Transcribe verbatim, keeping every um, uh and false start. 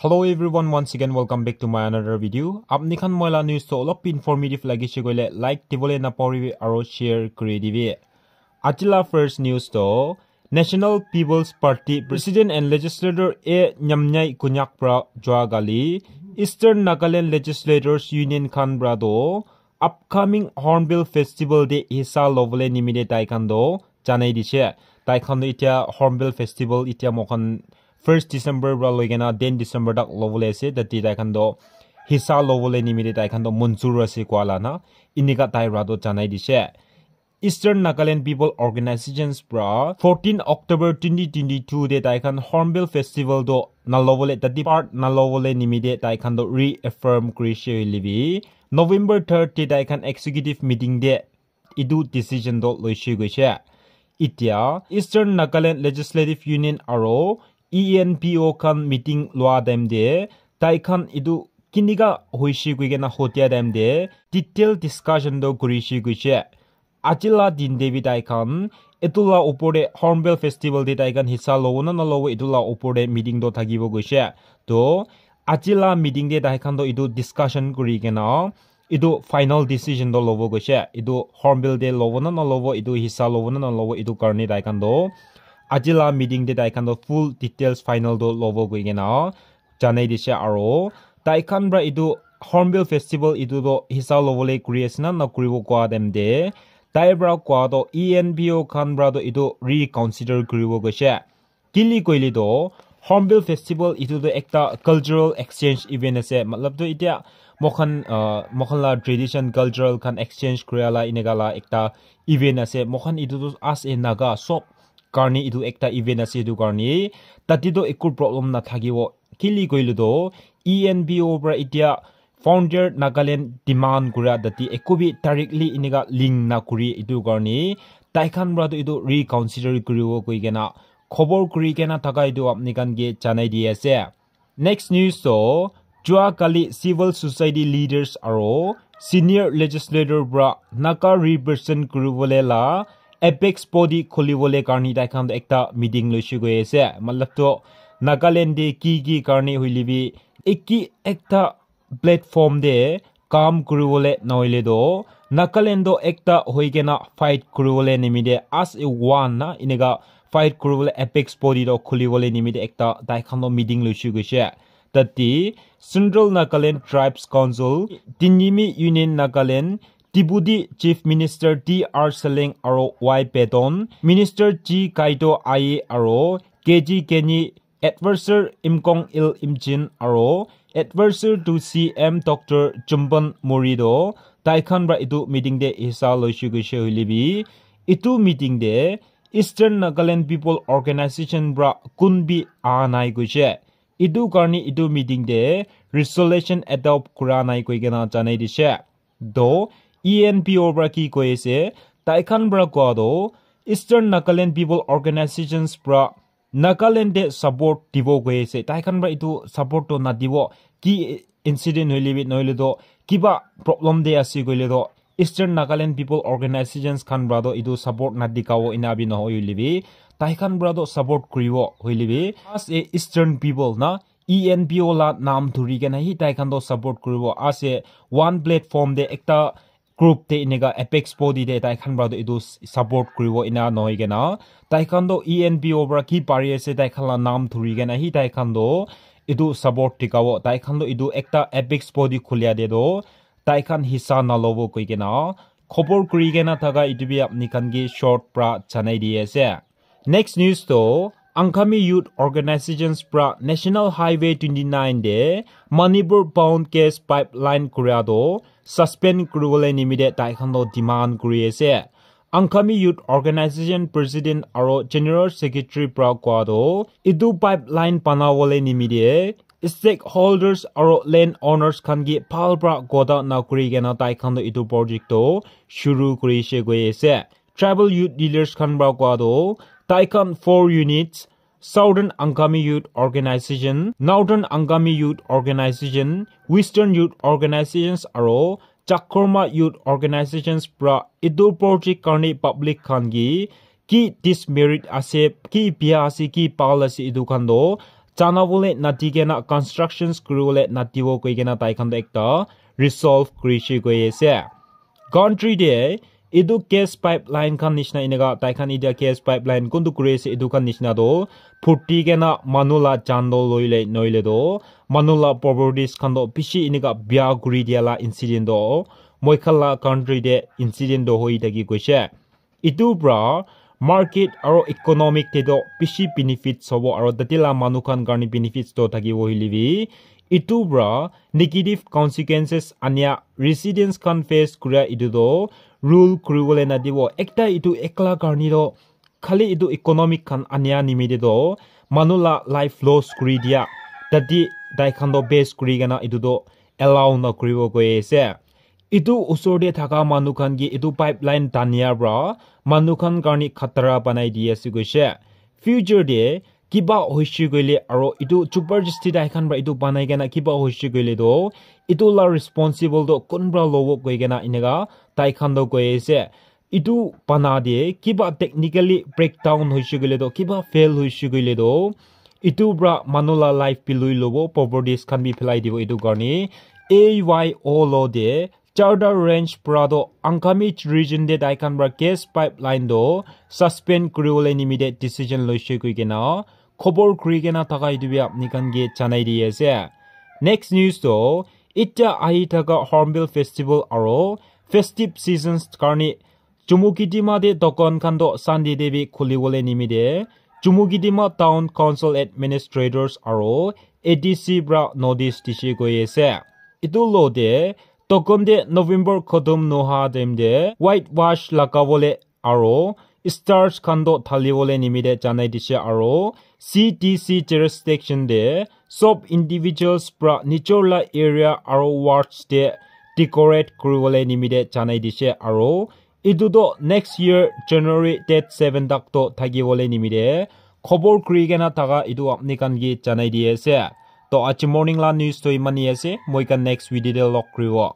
Hello everyone, once again welcome back to my another video. Apni khan moi la news to olop informative lagise koile like dibole napahoribi aro share kuri dibi. Aji la first news to National People's Party President and Legislator A Nyamnyai Konyak pra jua kali Eastern Nagaland Legislators Union khan pra to upcoming Hornbill Festival te hissa lobole nimite tai khan to janai dise. Tai khan to itya Hornbill Festival itya moikhan first December pra loi kena ten December tak lobole ase. Tate tai khan to hissa lobole nimite tai khan to munjur ase koa la na inika tai pra to janai dise. Eastern Nagaland People Organizations pra fourteen October twenty twenty-two te tai khan Hornbill Festival to nalobole, tate part nalobole nimite tai khan to reaffirm kurise hoile bi November third te tai khan executive meeting te etu decision to loise koise. Itya Eastern Nagaland Legislative Union aro E N P O khan meeting loa time te tai khan etu kinika hoise koi kena hotia time te detail discussion to kurise koise. Aji la din te bi tai khan etu la upor te Hornbill Festival te tai khan hissa lobo na nalobo etu la upor te meeting to thakibo koise. To aji la meeting te tai khan to etu discussion kuri kena etu final decision to lobo koise. Etu Hornbill te lobo na nalobo, etu hissa lobo na nalobo, etu karne tai khan to aji la meeting te tai khan to full details final to lobo koi kena janai dise aro tai khan pra etu Hornbill Festival etu to hissa lobole kuri ase na nakuribo koa time te tai pra koa to E N P O khan pra to etu reconsider kuribo koise. Kili koile to Hornbill Festival etu to ekta cultural exchange event ase. Matlab to itya moikhan, uh, moikhan la tradition cultural khan exchange kuria la inika la ekta event ase. Moikhan etu to as a Naga sob karne etu ekta event ase, etu karne tate to eku problem nathakibo. Kili koile to E N P O pra itya founder Nagaland demand kura tate eku bi directly inika link nakuri, etu karne tai khan pra to etu reconsider kuribo koi kena khobor kuri kena thaka etu apni khan ke janai di ase. Next news to jua kali civil society leaders aro senior legislator pra Naga represent kuribole la apex body khulibole karne tai khan ekta meeting loise koi ase. Matlab to Nagaland te ki ki karne hoile bi eki ekta platform te kam kuribole nohoile to Nagaland to ekta hoi kena fight kuribole nimite as a one na inika fight kuribole apex body to khulibole nimite ekta tai khan to meeting loise koise. Tate Central Nagaland Tribes Council, Tinimi Union Nagaland, Deputy Chief Minister T R Seleng aro Y Patton, Minister G Kaito Aye aro K G Kenny, Advisor Imkong Il Imchin aro Advisor to C M Doctor Chumpan Mori to tai khan pra etu meeting te hissa loise koise hoile bi etu meeting te Eastern Nagaland People Organization pra kun bi aha nai koise. Etu karne etu meeting te resolution adopt kura nai koi kena janai dise. To E N P O pra ki koi ase, tai khan pra koa to Eastern Nagaland People Organizations pra Nagaland te support dibo koi ase. Tai khan pra etu support to nadibo. Ki incident hoile bi nohoile to kiba problem te ase koile to Eastern Nagaland People Organizations khan pra to etu support nadikabo ena bi nohoi hoile bi tai khan pra to support kuribo hoile bi as a Eastern people na E N P O la naam dhuri kena hi tai khan to support kuribo ase. One platform te ekta group te enika apex body te tai khan pra to etu support kuribo ena nohoi kena tai khan to E N P O pra ki pari ase tai khan la naam dhuri kena hi tai khan to etu support dikabo. Tai khan to etu ekta apex body khulia te to tai khan hissa nalobo koi kena khobor kuri kena thaka etu bi apni khan ke short pra janai di ase. Next news to Angami Youth Organizations pra National Highway twenty-nine te Manipur bound gas pipeline kuria to suspend kuribole nimite tai khan to demand kuri ase. Angami Youth Organization President aro General Secretary pra koa to etu pipeline banabole nimite stakeholders aro land owners khan ke bhal pra kotha nakuri kena tai khan to etu project to shuru kurise koi ase. Tribal youth leaders khan pra koa to tai khan four units, Southern Angami Youth Organization, Northern Angami Youth Organization, Western Youth Organizations aro Chakroma Youth Organizations pra etu project karne public khan ke ki dismerit ase, ki bia ase, ki bhal ase, etu khan to tanabole nati kena constructions kuribole natibo koi kena tai khan toh ekta resolve kurishe koi ase. Country te etu gas pipeline khan nishina eneka tai khan etia gas pipeline kuntu kuri ase etu khan nishina toh phurti kena manu la jaan toh loile noile toh manu la properties khan toh bishi eneka bia kuri dia la incident toh moi khan la country te incident toh hoi thaki koise. Etu pra market aro economic te toh bishi benefits hobo aro tate la manu khan karne benefits toh thakibo hoile bi etu pra negative consequences ania residents khan face kuria etu toh rule kuribole nadibo. Ekta etu ekla karne toh khali etu economic khan ania nimite toh manu la life loss kuri dia tate tai khan toh base kuri kena etu toh allow na kuribo koi ase. Etu usor te thaka manu khan ke etu pipeline tania pra manu khan karne khatara banai di ase koise. Future te kiba hoishe koile aro etu jabardasti tai khan pra etu banai kena kiba hoishe koile toh etu la responsible toh kun pra lobo koi kena eneka tai khan toh koi ase. Etu bana te kiba technically breakdown hoishe koile toh kiba fail hoishe koile toh etu pra manu la life bi lui lobo properties khan bi phelai dibo etu karne A Y O law te Charter Range pra toh Angami region te tai khan pra gas pipeline toh suspend kuribole nimite decision loishe koi kena khobor kuri kena thaka etu bi apni khan ke janai di ase. Next news toh itya ahi thaka Hornbill Festival aro festive seasons karne Chumukedima te dukan khan toh Sunday te bi khulibole nimite Chumukedima Town Council Administrators aro A D C pra notice dishe koi ase. Etu lo te dukan te November khotom noha time te white wash lagabole aro stars khan toh thalibole nimite janai dishe aro C D C jurisdiction te sob individuals pra nijor la area aro wards te decorate kuribole nimite janai dishe aro etu toh next year January date seven tak toh thakibole nimite khobor kuri kena thaka etu apni khan ke janai di ase. Toh aji morning la news toh imani ase, moi khan next video te log kuribo.